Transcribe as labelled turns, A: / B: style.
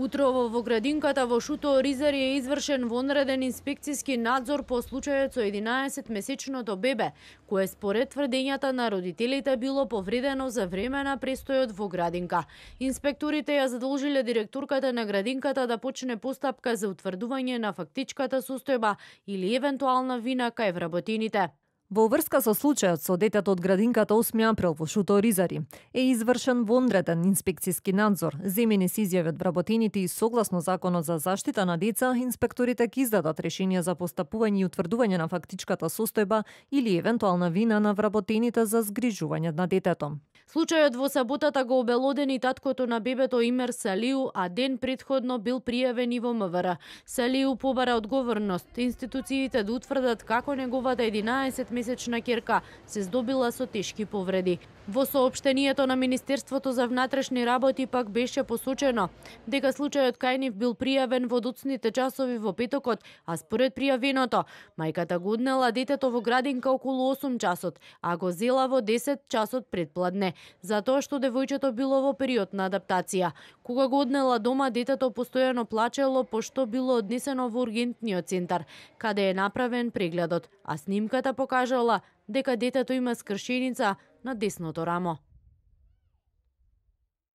A: Утрово во градинката во Шуто Оризари е извршен вонреден инспекциски надзор по случајот со 11-месечното бебе, кое според тврдењата на родителите било повредено за време на престојот во градинка. Инспекторите ја задолжиле директорката на градинката да почне постапка за утврдување на фактичката состојба или евентуална вина кај вработените.
B: Во врска со случајот со детето од градинката 8 април во Шуто Оризари е извршен вонреден инспекциски надзор. Земени се изјави од вработените и согласно Законот за заштита на деца, инспекторите ќе издадат решение за постапување и утврдување на фактичката состојба или евентуална вина на вработените за згрижување на детето.
A: Случајот во саботата го обелодени таткото на бебето Имер Салиу, а ден претходно бил пријавен и во МВР. Салиу побара одговорност институциите да утврдат како неговата 11-месечна ќерка се здобила со тешки повреди. Во соопштението на Министерството за внатрешни работи пак беше посочено дека случајот кај нив бил пријавен во доцните часови во петокот, а според пријавеното, мајката го однела детето во градинка околу 8 часот, а го зела во 10 часот предпладне, затоа што девојчето било во период на адаптација. Кога го однела дома, детето постојано плачело пошто било однесено во ургентниот центар, каде е направен прегледот, а снимката покажала дека детето има скршеница на десното рамо.